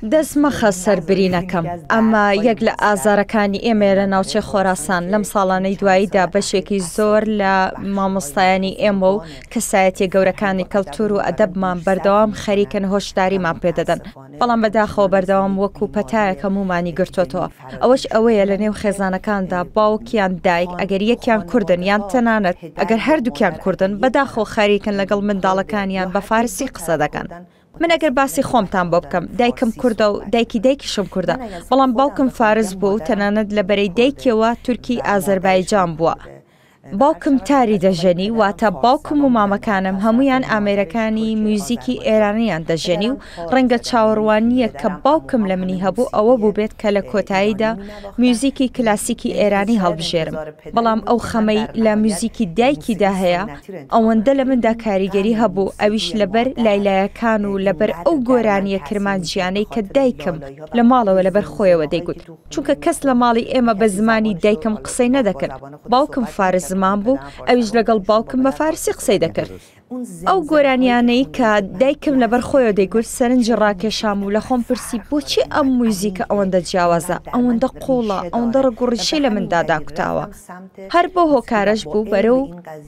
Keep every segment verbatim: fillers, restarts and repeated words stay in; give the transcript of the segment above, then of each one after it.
دەست مەخە سەر برینەکەم. ئەمە یەک لە ئازارەکانی ئێمەیە لە ناوچەی خۆراسان. لەم ساڵانەی دواییدا بەشێکی زۆر لە مامۆستایانی ئێمە و کەسایەتیە گەورەکانی کەلتور و ئەدەبمان بەردەوام خەریکن هۆشداریمان پێدەدەن، بەڵام بەداخەوە بەردەوام وەکو پەتایەک هەموومانی گرتۆتەوە. ئەوەش ئەوەیە لە نێو خێزانەکاندا باوک یان دایک ئەگەر یەکیان کوردن یان تەنانەت ئەگەر هەردووکیان کوردن، بەداخەوە خەریکن لەگەڵ منداڵەکانیان بە فارسی قسە دەکەن. من ئەگەر باسی خۆمتان بۆ بکەم، دایکم کوردە و دایکی دایکیشم کوردە، بەڵام باوکم فارس بووە و تەنانەت لە بەرەی دایکیەوە تورکی ئازەربایجان بووە. باوکم تاری دەژەنی، واتە باوکم و مامەکانم هەموویان ئامێرەکانی میوزیکی ئێرانیان دەژەنی و ڕەنگە چاوەڕوانییەک کە باوکم لە منی هەبوو ئەوە بووبێت کە لە کۆتاییدا میوزیکی کلاسیکی ئێرانی هەڵبژێرم، بەڵام ئەو خەمەی لە میوزیکی دایکیدا هەیە ئەوەندە لە مندا کاریگەری هەبوو، ئەویش لەبەر لایلایەکان و لەبەر ئەو گۆرانییە کرمانجییانەی کە دایکم لە ماڵەوە لەبەر خۆیەوە دەیگوت، چونکە کەس لە ماڵی ئێمە بە زمانی دایکم قسەی نەدەکرد، باوکم فارس زمان بوو، ئەویش لەگەڵ باوکم بە فارسی قسەی دەکرد. ئەو گۆرانیانەی کە دایکم لەبەر خۆیەوە دەیگوت سەرنجی ڕاکێشام و لە خۆم پرسی بۆچی ئەم موزیکە ئەوەندە جیاوازە، ئەوەندە قووڵە، ئەوەندە ڕەگ و ڕیشەی لە مندا داکوتاوە. هەر بەو هۆکارەش بوو بەرەو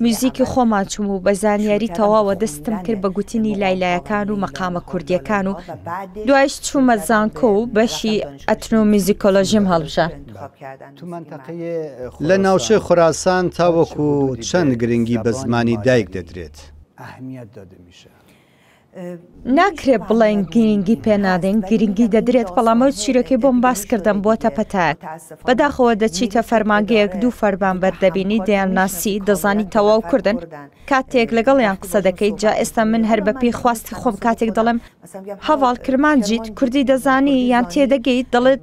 میوزیکی خۆمان چووم و بە زانیاری تەواوە دەستم کرد بە گوتنی لایلایەکان و مەقامە کوردییەکان و دوایش چوومە زانکۆ و بەشی ئەتنۆمیوزیکۆلۆژیم هەڵبژارد. لە ناوچەی خوراسان تاوەکو چەند گرنگی بە زمانی دایک دەدرێت؟ ناکرێت بڵێن گرنگی پێ نادەین، گرنگی دەدرێت، بەڵام ئەو چیرۆکەی بۆم باس کردم بۆتە پەتایەک. بەداخەوە دەچیتە فەرمانگەیەک دوو فەرمانبەر دەبینی دەیانناسی، دەزانی تەواو کوردن، کاتێک لەگەڵیان قسە دەکەیت، جا ئێستا من هەر بەپێی خواستی خۆم کاتێک دەڵێم هەڤاڵ کرمانجیت، کوردی دەزانی یان تێدەگەیت، دەڵێت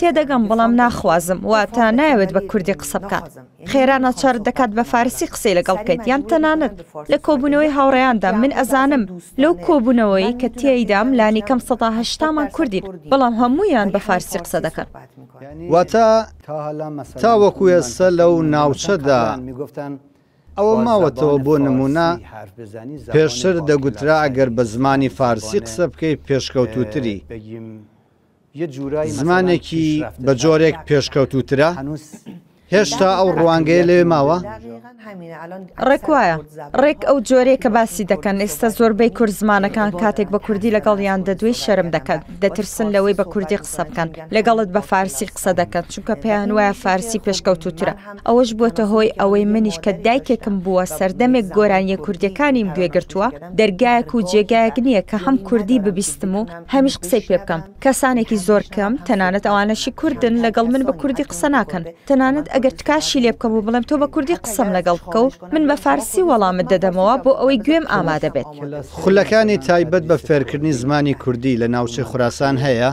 تێدەگەم بەڵام ناخوازم، واتە نایەوێت بە کوردی قسە بکات. خێرا ناچارت دەکات بە فارسی قسەی لەگەڵ بکەیت، یان تەنانەت لە کۆبوونەوەی هاوڕێیاندا من ئەزانم لەو کۆبوونەوەی کە تێیدام لانیکەم سەدا هەشتامان کوردین، بەڵام هەموویان بە فارسی قسە دەکەن. واتە تاوەکو ئێستا لەو ناوچەدا ئەوە ماوەتەوە بۆ نمونە پێشتر دەگوترا ئەگەر بە زمانی فارسی قسە بکەیت پێشکەوتوتری، زمانێکی بە جۆرێک پێشکەوتوترە؟ هێشتا ئەو ڕوانگەیە لەوێ ماوە؟ ڕێک وایە، ڕێک ئەو جۆرەیە کە باسی دەکەن. ئێستا زۆربەی کورد زمانەکان کاتێک بە کوردی لەگەڵیان دەدوێی شەرم دەکەن، دەترسن لەوەی بە کوردی قسە بکەن، لەگەڵت بە فارسی قسە دەکەن، چونکە پێیان وایە فارسی پێشکەوتوترە. ئەوەش بووەتە هۆی ئەوەی منیش کە دایکێکم بووە سەردەمێک گۆرانیە کوردیەکانیم گوێگرتووە، دەرگایەک و جێگایەک نییە کە هەم کوردی ببیستم و هەمیش قسەی پێ بکەم. کەسانێکی زۆر کەم، تەنانەت ئەوانەشی کوردن، لەگەڵ من بە کوردی قسە ناکەن. تەنانەت ئەگەر تکاشی لێ بکەم و بڵێم تۆ بە کوردی قسەم لەگەڵ بکە و من بە فارسی وەڵامت دەدەمەوە بۆ ئەوەی گوێم ئامادە بێت. خولەکانی تایبەت بە فێرکردنی زمانی کوردی لە ناوچەی خوراسان هەیە؟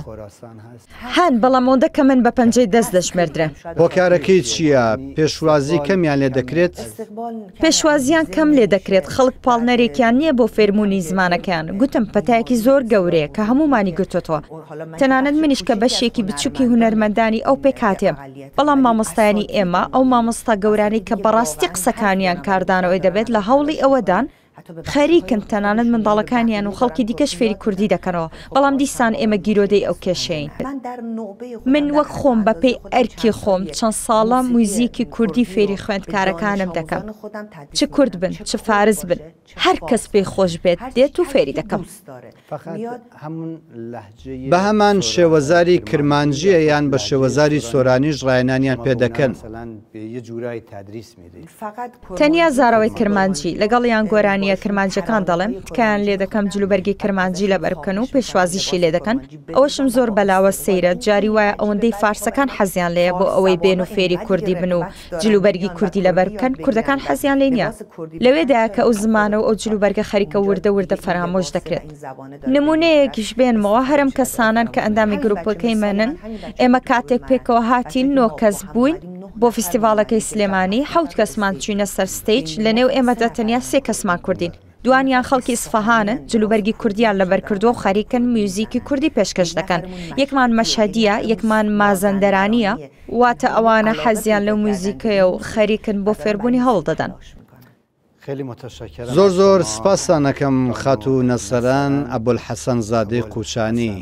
هەن، بەڵام ئەوەندە کە من بە پەنجەی دەست دەژمێردرێن. هۆکارەکەی چییە؟ پێشوازی کەمیان لێ دەکرێت؟ پێشوازیان کەم لێ دەکرێت، خەڵک پاڵنەرێکیان نییە بۆ فێربوونی زمانەکەیان. گوتم پەتایەکی زۆر گەورەیە کە هەمومانی گرتوتەوە، تەنانەت منیش کە بەشێکی بچووکی هونەرمەندانی ئەو پێکهاتێم، بەڵام مامۆستایانی ئێمە، ئەو مامۆستا گەورانەی کە بەڕاستی قسەکانیان کاردانەوەی دەبێت لە هەوڵی ئەوەدان، خەریکن تەنانەت منداڵەکانیان و خەڵکی دیکەش فێری کوردی دەکەنەوە، بەڵام دیسان ئێمە گیرۆدەی ئەو کێشەین. من وەک خۆم بەپێی ئەرکی خۆم چەند ساڵە موزیکی کوردی فێری خوێندکارەکانم دەکەم، چ کورد بن چ فارس بن، هەر کەس پێی خۆش بێت دێت و فێری دەکەم. بە هەمان شێوەزاری کرمانجیە یان بە شێوەزاری سۆرانیش ڕاهێنانیان پێ دەکەن؟ تەنیا زاراوەی کرمانجی، لەگەڵیان گۆرانیە کرمانجیەکان دەڵێم، تکایان لێ دەکەم جلوبەرگی کرمانجی لەبەر بکەن و پێشوازیشی لێ دەکەن. ئەوەشم زۆر بەلاوە سەیرە، جاری وایە ئەوەندەی فارسەکان حەزیان لێیە بۆ ئەوەی بێن و فێری کوردی بن و جلوبەرگی کوردی لەبەر بکەن، کوردەکان حەزیان لێ نییە. لەوێدایە کە ئەو زمانە و ئەو جلوبەرگە خەریکە وردە وردە فەرامۆش دەکرێت. نمونەیەکیش بێنمەوە، هەرم کەسانن کە ئەندامی گروپەکەی منن، ئێمە کاتێک پێکەوە هاتین نۆ کەس بووین بۆ فیستیڤاڵەکەی سلێمانی، حەوت کەسمان چوینە سەر stage، لەنێو ئێمەدا تەنیا سێ کەسمان کوردین، دوانیان خەڵکی ئیسفەهانن، جلوبەرگی کوردیان لەبەر کردووە و خەریکن میوزیکی کوردی پێشکەش دەکەن. یەکمان مەشهەدیە، یەکمان مازەندەرانیە، واتە ئەوانە حەزیان لەو میوزیکەیە و خەریکن بۆ فێربوونی هەوڵ دەدەن. زۆر زۆر سپاستان ئەکەم خاتوو نەسەران ئەبولحەسەن زادەی قووچانی.